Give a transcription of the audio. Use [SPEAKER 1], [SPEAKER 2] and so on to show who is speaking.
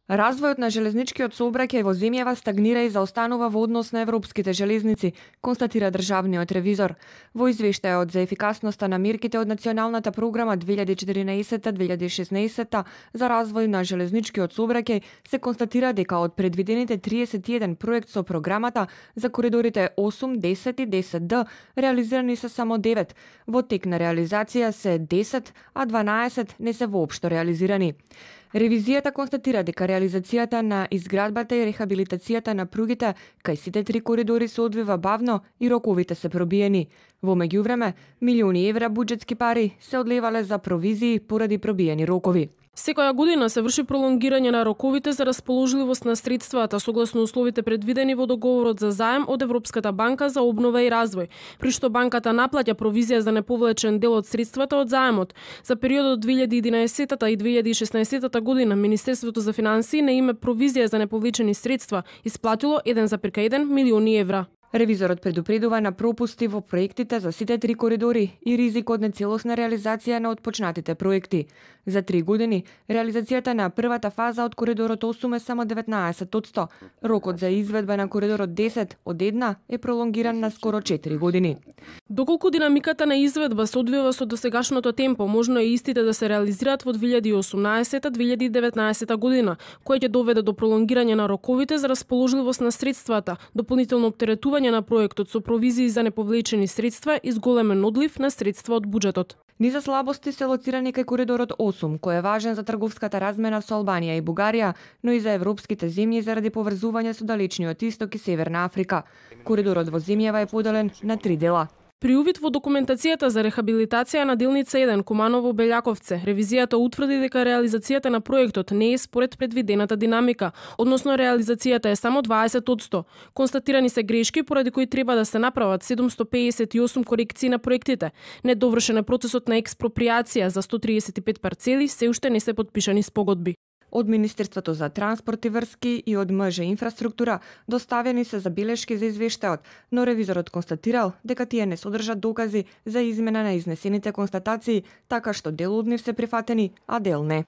[SPEAKER 1] Развојот на железничкиот сообраќај во земјава стагнира и заостанува во однос на европските железници, констатира државниот ревизор. Во извештајот за ефикасноста на мерките од Националната програма 2014-2016 за развој на железничкиот сообраќај се констатира дека од предвидените 31 проект со програмата за коридорите 8, 10 и 10D реализирани се само 9. Во тек на реализација се 10, а 12 не се воопшто реализирани. Ревизијата констатира дека реализацијата на изградбата и рехабилитацијата на пругите кај сите три коридори се одвива бавно и роковите се пробиени. Во меѓувреме, милиони евра буџетски пари се одлевале за провизии поради пробиени рокови.
[SPEAKER 2] Секоја година се врши пролонгирање на роковите за расположливост на средствата согласно условите предвидени во договорот за заем од Европската банка за обнова и развој, при што банката наплаќа провизија за неповлечен дел од средствата од заемот. За периодот 2011 и 2016 година Министерството за финансии на име провизија за неповлечени средства исплатило 1,1 милиони евра.
[SPEAKER 1] Ревизорот предупредува на пропусти во проектите за сите три коридори и ризик од нецелосна реализација на отпочнатите проекти. За 3 години, реализацијата на првата фаза од коридорот 8 е само 19%. Рокот за изведба на коридорот 10 од една е пролонгиран на скоро 4 години.
[SPEAKER 2] Доколку динамиката на изведба се одвива со досегашното темпо, можно е истите да се реализираат во 2018-2019 година, кој ќе доведе до пролонгирање на роковите за расположливост на средствата, дополнително оптеретување на проектот со провизии за неповлечени средства и зголемен одлив на средства од буџетот.
[SPEAKER 1] Низа слабости се лоцирани кај коридорот 8, кој е важен за трговската размена со Албанија и Бугарија, но и за европските земји заради поврзување со далечниот исток и Северна Африка. Коридорот во земјава е поделен на 3 дела.
[SPEAKER 2] При увид во документацијата за рехабилитација на делница 1 Куманово-Белјаковце, ревизијата утврди дека реализацијата на проектот не е според предвидената динамика, односно реализацијата е само 20%. Констатирани се грешки поради кои треба да се направат 758 корекции на проектите. Недовршен е процесот на експроприација за 135 парцели, се уште не се потпишани спогодби.
[SPEAKER 1] Од Министерството за транспорт и врски и од МЖ инфраструктура доставени се забелешки за извештајот, но ревизорот констатирал дека тие не содржат докази за измена на изнесените констатации, така што дел од нив се прифатени, а дел не.